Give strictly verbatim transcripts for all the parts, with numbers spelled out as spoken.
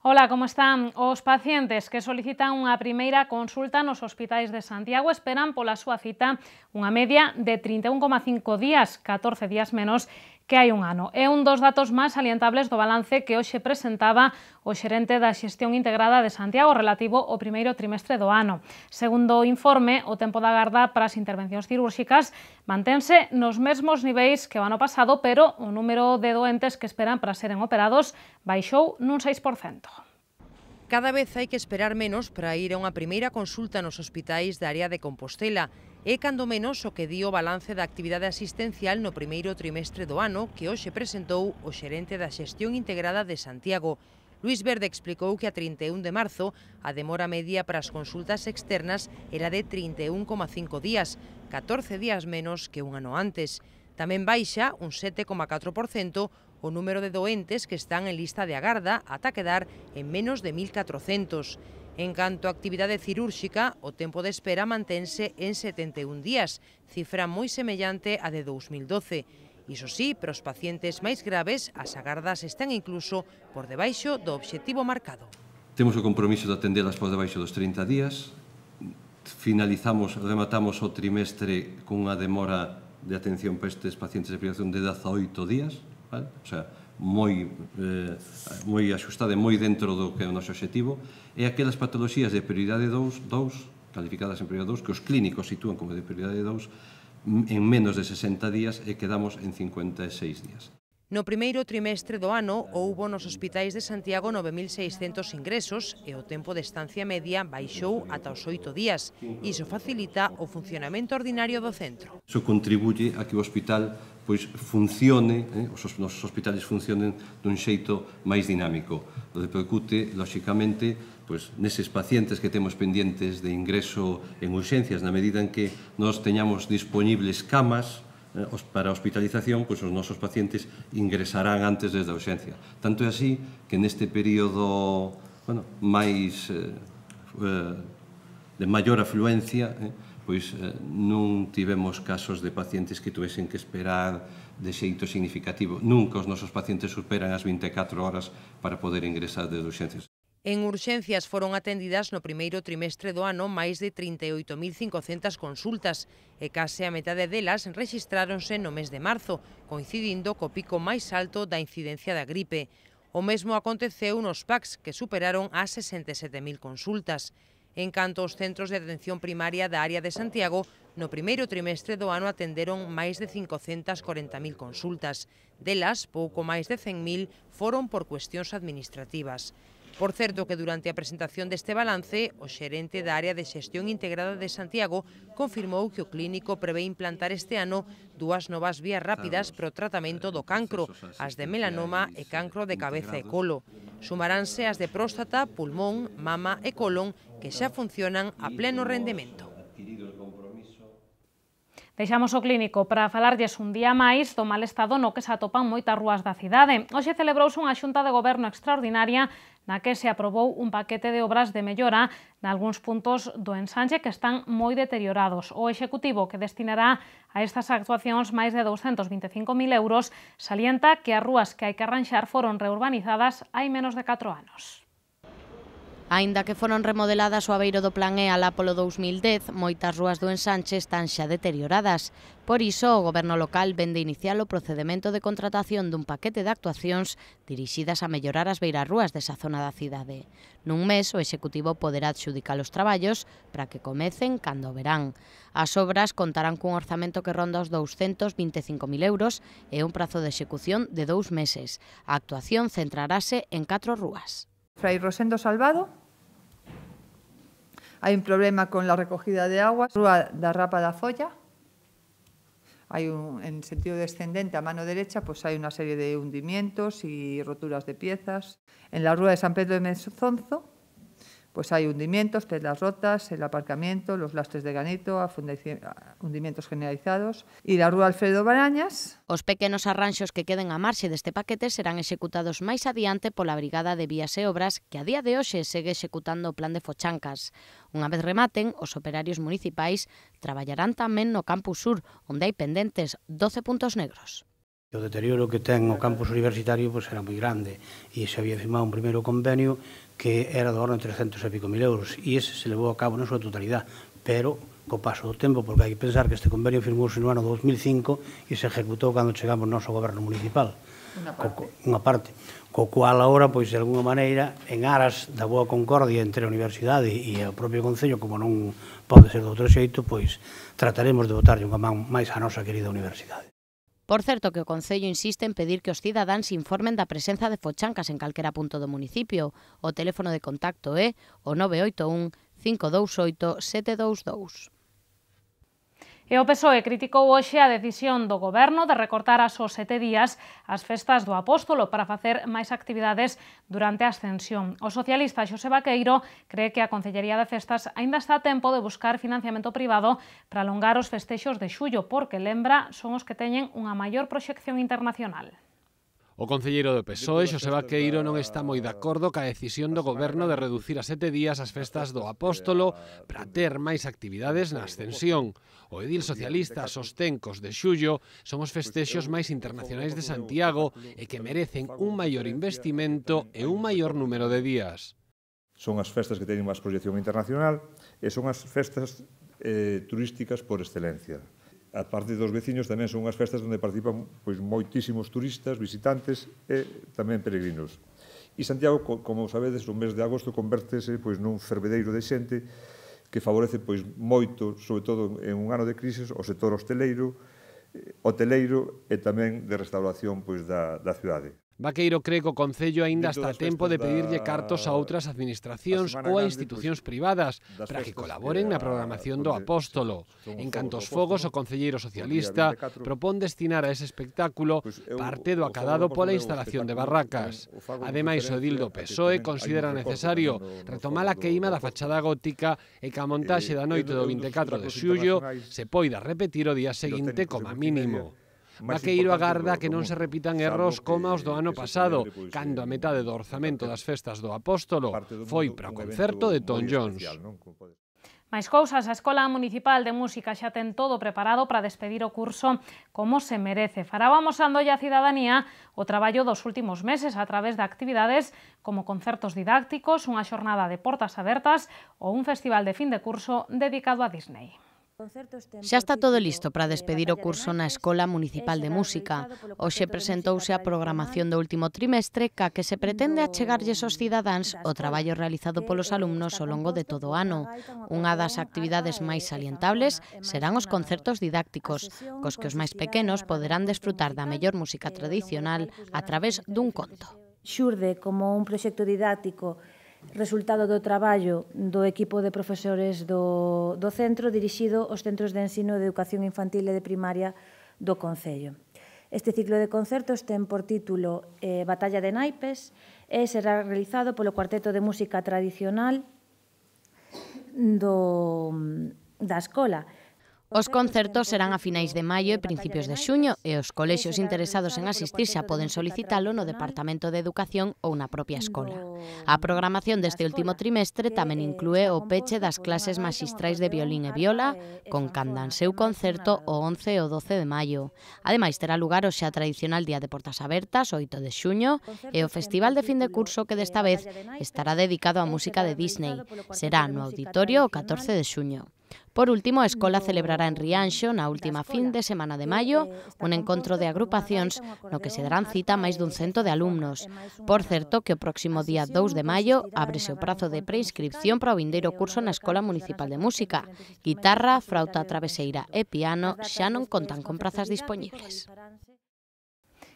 Ola, como están? Os pacientes que solicitan unha primeira consulta nos hospitais de Santiago esperan pola súa cita unha media de trinta e un coma cinco días, catorce días menos que hai un ano. É un dos datos máis salientables do balance que hoxe presentaba o xerente da Xestión Integrada de Santiago relativo ao primeiro trimestre do ano. Segundo o informe, o tempo da agarda para as intervencións cirúrxicas mantense nos mesmos niveis que o ano pasado, pero o número de doentes que esperan para seren operados baixou nun seis por cento. Cada vez hai que esperar menos para ir a unha primeira consulta nos hospitais da área de Compostela. É cando menos o que di o balance da actividade asistencial no primeiro trimestre do ano que hoxe presentou o xerente da Xestión Integrada de Santiago. Luís Verde explicou que a trinta e un de marzo a demora media para as consultas externas era de trinta e un coma cinco días, catorce días menos que un ano antes. Tamén baixa un sete coma catro por cento o número de doentes que están en lista de agarda ata quedar en menos de mil catrocentos. En canto a actividade cirúrxica, o tempo de espera mantense en setenta e un días, cifra moi semellante a de dous mil doce. Iso sí, para os pacientes máis graves, as agardas están incluso por debaixo do obxectivo marcado. Temos o compromiso de atendelas por debaixo dos trinta días. Finalizamos, rematamos o trimestre con unha demora de atención para estes pacientes de privación de dezaoito días, vale? O sea, moi, eh, moi axustada e moi dentro do que é o noso obxectivo, e aquelas patoloxías de prioridade dous, calificadas en prioridade dous, que os clínicos sitúan como de prioridade dous, en menos de sesenta días e quedamos en cincuenta e seis días. No primeiro trimestre do ano houbo nos hospitais de Santiago nove mil seiscentos ingresos e o tempo de estancia media baixou ata os oito días. Iso facilita o funcionamento ordinario do centro. Iso contribuye a que o hospital pois funcione, eh, os nosos hospitales funcionen dun xeito máis dinámico. O repercute, lóxicamente, pois, neses pacientes que temos pendientes de ingreso en urxencias, na medida en que nos teñamos disponibles camas para a hospitalización, pois os nosos pacientes ingresarán antes desde a urxencia. Tanto é así que neste período bueno, máis eh, de maior afluencia, eh, pois eh, non tivemos casos de pacientes que tuvesen que esperar de xeito significativo. Nunca os nosos pacientes superan as vinte e catro horas para poder ingresar desde urxencias. En urxencias foron atendidas no primeiro trimestre do ano máis de trinta e oito mil cincocentas consultas e case a metade delas rexistráronse no mes de marzo, coincidindo co pico máis alto da incidencia da gripe. O mesmo aconteceu nos P A Cs, que superaron as sesenta e sete mil consultas. En canto aos centros de atención primaria da área de Santiago, no primeiro trimestre do ano atenderon máis de cincocentas corenta mil consultas. Delas, pouco máis de cen mil foron por cuestións administrativas. Por certo que durante a presentación deste balance, o xerente da área de Xestión Integrada de Santiago confirmou que o clínico prevé implantar este ano dúas novas vías rápidas para o tratamento do cancro, as de melanoma e cancro de cabeza e colo. Sumaránse as de próstata, pulmón, mama e colon, que xa funcionan a pleno rendemento. Deixamos o clínico para falarlles un día máis do mal estado no que se atopan moitas rúas da cidade. Hoxe celebrouse unha xunta de goberno extraordinaria na que se aprobou un paquete de obras de mellora nalgúns puntos do ensanche que están moi deteriorados. O Executivo, que destinará a estas actuacións máis de douscentos vinte e cinco mil euros, salienta que as rúas que hai que arranxar foron reurbanizadas hai menos de catro anos. Aínda que foron remodeladas o abeiro do Plan E alá polo dous mil dez, moitas rúas do ensanche están xa deterioradas. Por iso, o Goberno local vende iniciar o procedemento de contratación dun paquete de actuacións dirixidas a mellorar as beirarrúas desa zona da cidade. Nun mes, o Executivo poderá adxudicar os traballos para que comecen cando o verán. As obras contarán cun orzamento que ronda os douscentos vinte e cinco mil euros e un prazo de execución de dous meses. A actuación centrarase en catro rúas. Fray Rosendo Salvado, hai un problema con la recogida de agua. Rúa da Rapa da Zolla, hai un, en sentido descendente a mano derecha, pues hai unha serie de hundimientos y roturas de piezas. En la Rúa de San Pedro de Mezonzo, pues hay hundimientos, piedras rotas, el aparcamiento, los lastres de granito, hundimientos generalizados. E la Rúa Alfredo Barañas. Os pequenos arranxos que queden a marxe deste paquete serán executados máis adiante pola Brigada de Vías e Obras, que a día de hoxe segue executando o plan de Fochancas. Unha vez rematen, os operarios municipais traballarán tamén no Campus Sur, onde hai pendentes doce puntos negros. O deterioro que ten o campus universitario pois, era moi grande e se había firmado un primeiro convenio que era do orden de trescentos e pico mil euros e ese se levou a cabo na súa totalidade, pero co paso do tempo, porque hai que pensar que este convenio firmouse no ano dos mil cinco e se ejecutou cando chegamos no noso goberno municipal. Unha parte. Unha parte. Co cual, agora, pois, de alguna maneira, en aras da boa concordia entre a universidade e o propio Concello, como non pode ser de outro xeito, pois, trataremos de botarlle unha man máis á nosa querida universidade. Por certo que o Concello insiste en pedir que os cidadáns informen da presenza de fochancas en calquera punto do municipio. O teléfono de contacto é o nove oito un, cinco dous oito, sete dous dous. E o P S O E criticou hoxe a decisión do Goberno de recortar a só sete días as festas do Apóstolo para facer máis actividades durante a Ascensión. O socialista Xosé Vaqueiro cree que a Concellería de Festas aínda está a tempo de buscar financiamento privado para alongar os festexos de xullo, porque, lembra, son os que teñen unha maior proxección internacional. O concelleiro do P S O E, Xosé Vaqueiro, non está moi de acordo ca decisión do Goberno de reducir a sete días as festas do Apóstolo para ter máis actividades na Ascensión. O edil socialista sostén que os de xullo son os festexos máis internacionais de Santiago e que merecen un maior investimento e un maior número de días. Son as festas que teñen máis proxección internacional e son as festas eh, turísticas por excelencia. A parte dos veciños tamén son unhas festas onde participan pois, moitísimos turistas, visitantes e tamén peregrinos. E Santiago, como sabedes, o mes de agosto convértese pois, nun fervedeiro de xente que favorece pois, moito, sobre todo en un ano de crisis, o sector hosteleiro, hoteleiro e tamén de restauración pois, da, da cidade. Vaqueiro cree que o Concello aínda está a tempo de pedirlle cartos a outras administracións ou a institucións privadas para que colaboren na programación do Apóstolo. En canto aos fogos, o concelleiro socialista propón destinar a ese espectáculo parte do acadado pola instalación de barracas. Ademais, o edil do P S O E considera necesario retomar a queima da fachada gótica e que a montaxe da noite do vinte e catro de xullo se poida repetir o día seguinte como mínimo. Vaqueiro agarda que non se repitan erros como os do ano pasado, cando a metade do orzamento das festas do Apóstolo foi para o concerto de Tom Jones. Máis cousas, a Escola Municipal de Música xa ten todo preparado para despedir o curso como se merece. Fará amosándolle a cidadanía o traballo dos últimos meses a través de actividades como concertos didácticos, unha xornada de portas abertas ou un festival de fin de curso dedicado a Disney. Xa está todo listo para despedir o curso na Escola Municipal de Música. Hoxe presentouse a programación do último trimestre ca que se pretende achegarlles aos cidadáns o traballo realizado polos alumnos ao longo de todo o ano. Unha das actividades máis salientables serán os concertos didácticos, cos que os máis pequenos poderán desfrutar da mellor música tradicional a través dun conto. Xurde como un proxecto didáctico resultado do traballo do equipo de profesores do, do centro dirixido aos centros de ensino de educación infantil e de primaria do Concello. Este ciclo de concertos ten por título eh, Batalla de Naipes e será realizado polo Cuarteto de Música Tradicional do, da escola. Os concertos serán a finais de maio e principios de xuño e os colexios interesados en asistir xa poden solicitalo no Departamento de Educación ou na propia escola. A programación deste último trimestre tamén inclúe o peche das clases maxistrais de violín e viola, con candan seu concerto o once e o doce de maio. Ademais, terá lugar o xa tradicional Día de Portas Abertas, o oito de xuño, e o Festival de Fin de Curso que desta vez estará dedicado á música de Disney. Será no auditorio o catorce de xuño. Por último, a escola celebrará en Rianxo, na última fin de semana de maio, un encontro de agrupacións no que se darán cita máis dun cento de alumnos. Por certo, que o próximo día dous de maio ábrese o prazo de preinscripción para o vindeiro curso na Escola Municipal de Música. Guitarra, frauta traveseira e piano xa non contan con prazas dispoñibles.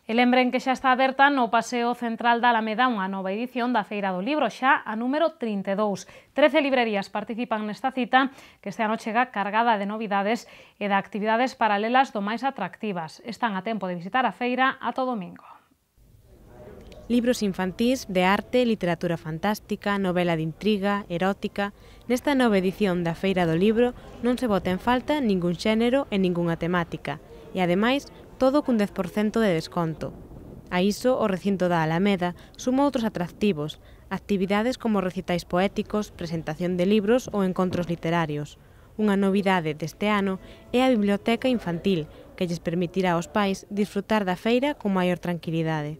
E lembren que xa está aberta no Paseo Central da Alameda unha nova edición da Feira do Libro, xa a número trinta e dous. Trece librerías participan nesta cita, que este ano chega cargada de novidades e de actividades paralelas do máis atractivas. Están a tempo de visitar a feira ata o domingo. Libros infantís de arte, literatura fantástica, novela de intriga, erótica. Nesta nova edición da Feira do Libro non se bota en falta ningún xénero e ningunha temática. E, ademais, todo cun dez por cento de desconto. A iso, o recinto da Alameda suma outros atractivos, actividades como recitais poéticos, presentación de libros ou encontros literarios. Unha novidade deste ano é a biblioteca infantil, que lles permitirá aos pais disfrutar da feira con maior tranquilidade.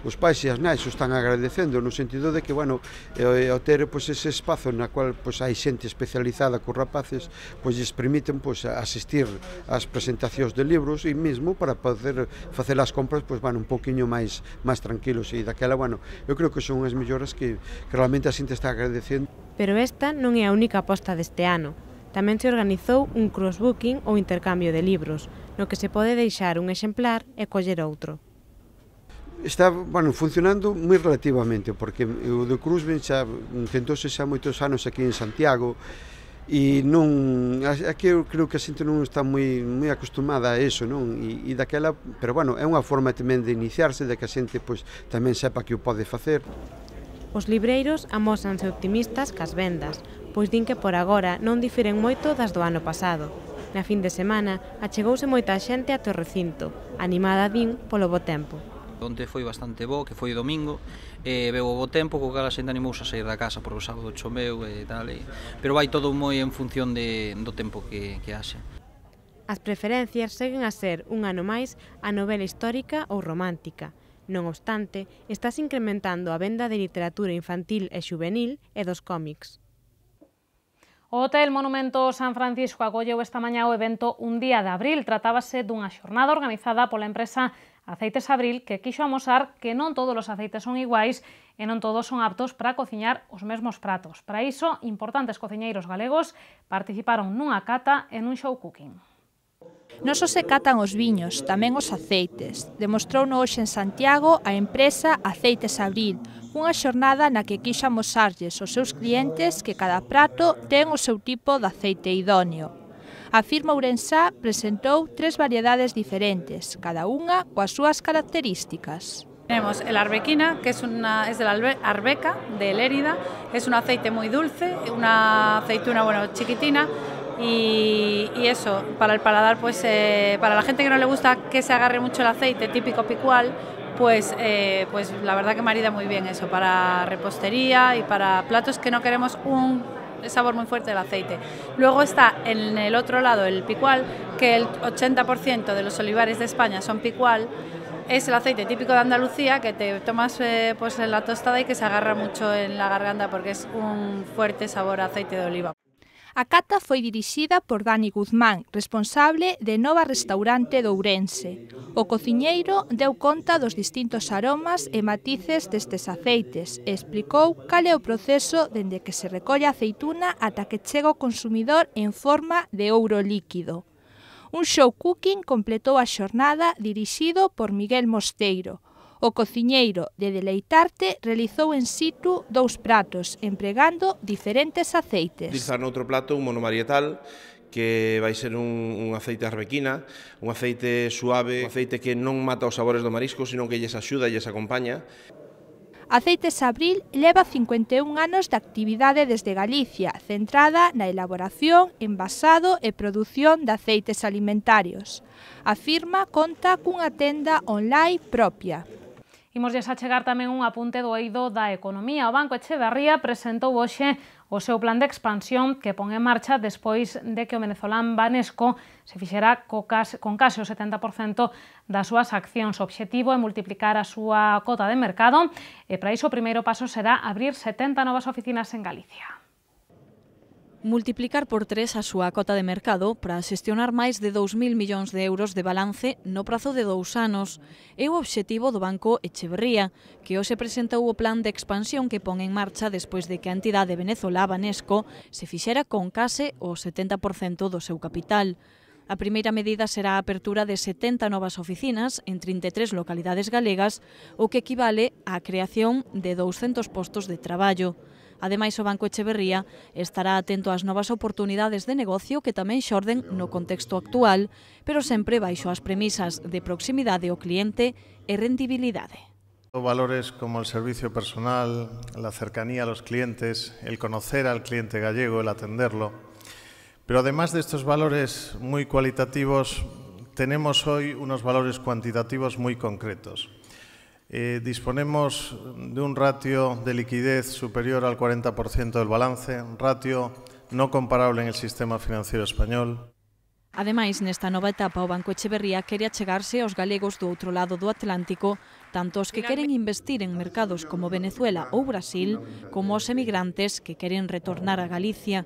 Os pais e as nais o están agradecendo no sentido de que, bueno, ao ter pois, ese espazo na cual pois, hai xente especializada cos rapaces, pois lles permiten pois, asistir ás presentacións de libros e mesmo para poder facer as compras pois, van un poquinho máis máis tranquilos e daquela, bueno, eu creo que son as melloras que, que realmente a xente está agradecendo. Pero esta non é a única aposta deste ano. Tamén se organizou un crossbooking ou intercambio de libros, no que se pode deixar un exemplar e coller outro. Está, bueno, funcionando moi relativamente, porque o de Cruzben xa intentouse xa moitos anos aquí en Santiago e non, aquí eu creo que a xente non está moi, moi acostumada a eso, non? E, e daquela, pero bueno, é unha forma tamén de iniciarse, de que a xente pois, tamén sepa que o pode facer. Os libreiros amósanse optimistas cas vendas, pois din que por agora non difiren moito das do ano pasado. Na fin de semana achegouse moita xente até o recinto, animada din polo bo tempo. Onte foi bastante bo, que foi domingo, e veu o bo tempo, co cal a xente animouse a sair da casa por o sábado choveu e tal, e... pero vai todo moi en función de, do tempo que, que haxe. As preferencias seguen a ser un ano máis a novela histórica ou romántica. Non obstante, estás incrementando a venda de literatura infantil e xuvenil e dos cómics. O Hotel Monumento San Francisco acolleu esta mañá o evento Un Día de Abril. Tratábase dunha xornada organizada pola empresa Aceites Abril, que quixo amosar que non todos os aceites son iguais e non todos son aptos para cociñar os mesmos pratos. Para iso, importantes cociñeiros galegos participaron nunha cata e nun show cooking. Non só se catan os viños, tamén os aceites. Demostrouno hoxe en Santiago a empresa Aceites Abril, unha xornada na que quixo amosarlles aos seus clientes que cada prato ten o seu tipo de aceite idóneo. A firma ourensá presentou tres variedades diferentes, cada unha coas súas características. Tenemos el arbequina, que es, una, es de la arbeca, de Lérida, es un aceite muy dulce, una aceituna bueno, chiquitina, y, y eso, para el paladar, pues eh, para la gente que no le gusta que se agarre mucho el aceite, típico picual, pues, eh, pues la verdad que marida muy bien eso, para repostería y para platos que no queremos un sabor muy fuerte del aceite. Luego está en el otro lado el picual, que el ochenta por ciento de los olivares de España son picual. Es el aceite típico de Andalucía que te tomas eh, pues en la tostada y que se agarra mucho en la garganta porque es un fuerte sabor a aceite de oliva. A cata foi dirixida por Dani Guzmán, responsable de Nova Restaurante de Ourense. O cociñeiro deu conta dos distintos aromas e matices destes aceites e explicou cal é o proceso dende que se recolle a aceituna ata que chega ao consumidor en forma de ouro líquido. Un show cooking completou a xornada dirixido por Miguel Mosteiro. O cociñeiro de Deleitarte realizou en situ dous pratos, empregando diferentes aceites. Utilizar noutro plato un monomarietal, que vai ser un, un aceite arbequina, un aceite suave, un aceite que non mata os sabores do marisco, sino que lles axuda e lles acompaña. Aceites Abril leva cincuenta e un anos de actividade desde Galicia, centrada na elaboración, envasado e produción de aceites alimentarios. A firma conta cunha tenda online propia. Imosles a chegar tamén un apunte do eido da economía. O Banco Echeverría presentou hoxe o seu plan de expansión que pon en marcha despois de que o venezolán Banesco se fixera con case o setenta por cento das súas accións. O obxectivo é multiplicar a súa cota de mercado e para iso o primeiro paso será abrir setenta novas oficinas en Galicia. Multiplicar por tres a súa cota de mercado para xestionar máis de dous mil millóns de euros de balance no prazo de dous anos é o obxectivo do Banco Echeverría, que hoxe presentou o plan de expansión que pon en marcha despois de que a entidade venezolá Banesco se fixera con case o setenta por cento do seu capital. A primeira medida será a apertura de setenta novas oficinas en trinta e tres localidades galegas, o que equivale á creación de douscentos postos de traballo. Ademais, o Banco Echeverría estará atento ás novas oportunidades de negocio que tamén xorden no contexto actual, pero sempre baixo as premisas de proximidade ao cliente e rendibilidade. Valores como el servicio personal, la cercanía a los clientes, el conocer al cliente gallego, el atenderlo. Pero además de estos valores muy cualitativos, tenemos hoy unos valores cuantitativos muy concretos. Eh, disponemos de un ratio de liquidez superior al cuarenta por ciento del balance, ratio no comparable en el sistema financiero español. Ademais, nesta nova etapa, o Banco Echeverría quere achegarse aos galegos do outro lado do Atlántico, tanto os que queren investir en mercados como Venezuela ou Brasil, como os emigrantes que queren retornar a Galicia.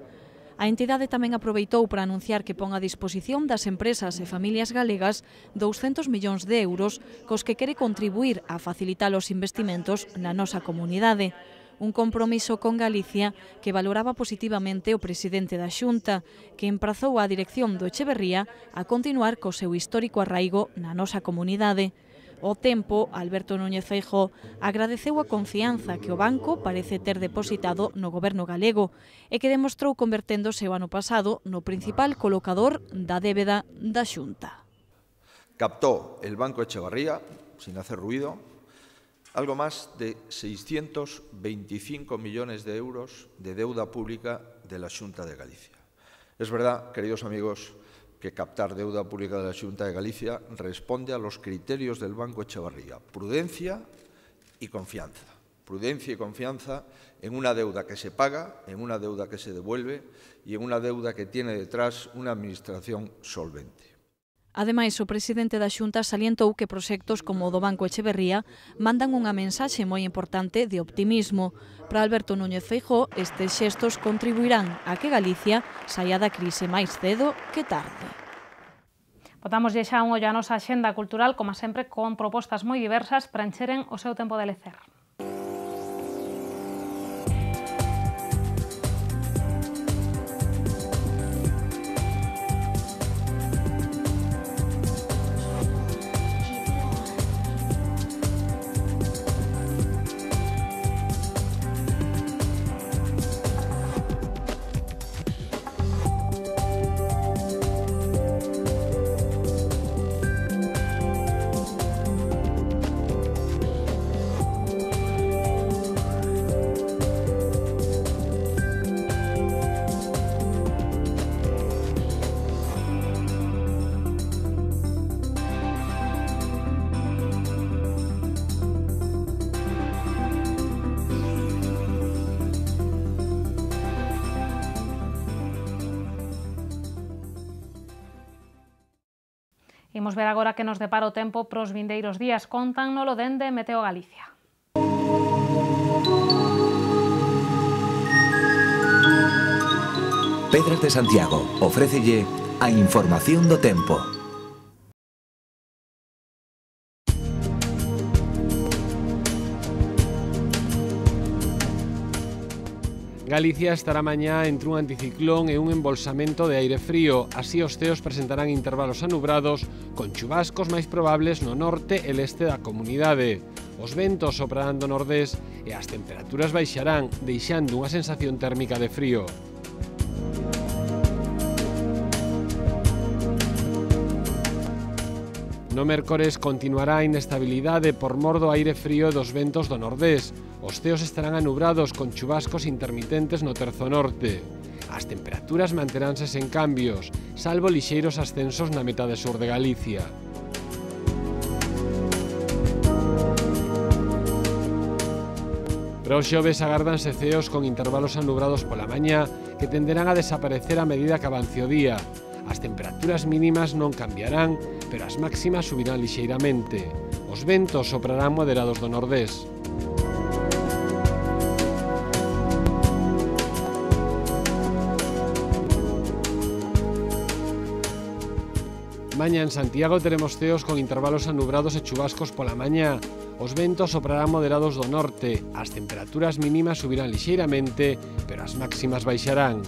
A entidade tamén aproveitou para anunciar que pon a disposición das empresas e familias galegas douscentos millóns de euros cos que quere contribuir a facilitar os investimentos na nosa comunidade. Un compromiso con Galicia que valoraba positivamente o presidente da Xunta, que emprazou a dirección do Echeverría a continuar co seu histórico arraigo na nosa comunidade. Ao tempo, Alberto Núñez Feijóo agradeceu a confianza que o banco parece ter depositado no goberno galego e que demostrou converténdose o ano pasado no principal colocador da débeda da Xunta. Captó el Banco Echeverría, sin hacer ruido, algo más de seiscientos veinticinco millones de euros de deuda pública de la Xunta de Galicia. Es verdad, queridos amigos, que captar deuda pública de la Xunta de Galicia responde a los criterios del Banco Echeverría: prudencia y confianza. Prudencia y confianza en una deuda que se paga, en una deuda que se devuelve y en una deuda que tiene detrás una administración solvente. Ademais, o presidente da Xunta salientou que proxectos como o do Banco Echeverría mandan unha mensaxe moi importante de optimismo. Para Alberto Núñez Feijóo, estes xestos contribuirán a que Galicia saia da crise máis cedo que tarde. Botamos xa un ollo a nosa axenda cultural, como sempre, con propostas moi diversas para encheren o seu tempo de lecer. Imos ver agora que nos depara o tempo pros vindeiros días. Contánnolo dende Meteo Galicia. Pedras de Santiago ofrécelle a información do tempo. Galicia estará mañá entre un anticiclón e un embolsamento de aire frío. Así os ceos presentarán intervalos anubrados con chubascos máis probables no norte e leste da comunidade. Os ventos soprarán do nordés e as temperaturas baixarán, deixando unha sensación térmica de frío. No mércores continuará a inestabilidade por mor do aire frío e dos ventos do nordés. Os ceos estarán anubrados con chubascos intermitentes no terzo norte. As temperaturas manteránse sen cambios, salvo lixeiros ascensos na metade sur de Galicia. Para os xoves agárdanse ceos con intervalos anubrados pola mañá que tenderán a desaparecer a medida que avance o día. As temperaturas mínimas non cambiarán, pero as máximas subirán lixeiramente. Os ventos soprarán moderados do nordés. Mañá en Santiago teremos ceos con intervalos anubrados e chubascos pola mañá. Os ventos soprarán moderados do norte. As temperaturas mínimas subirán lixeiramente, pero as máximas baixarán.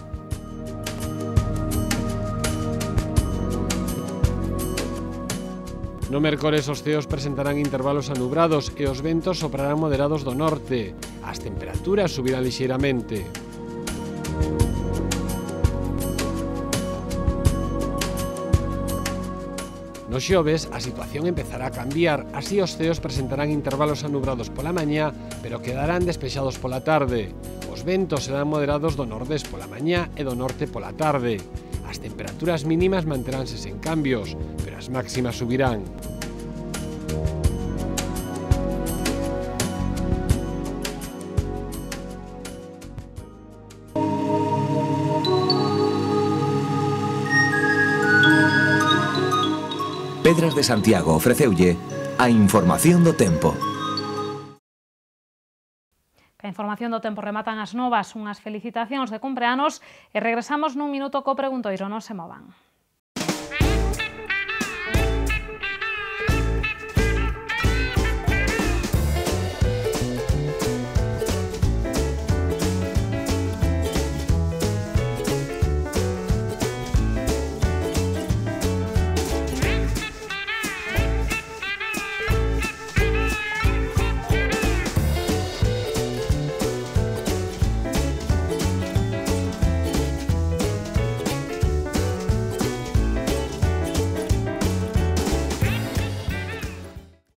No mércores os ceos presentarán intervalos anubrados e os ventos soprarán moderados do norte. As temperaturas subirán lixeiramente. No xoves, a situación empezará a cambiar, así os ceos presentarán intervalos anubrados pola mañá, pero quedarán despexados pola tarde. Os ventos serán moderados do nordés pola mañá e do norte pola tarde. As temperaturas mínimas manteránse sen cambios, pero as máximas subirán. Pedras de Santiago ofreceulle a información do tempo. A información do tempo rematan as novas, unhas felicitacións de cumpleanos e regresamos nun minuto co preguntoiro, non se movan.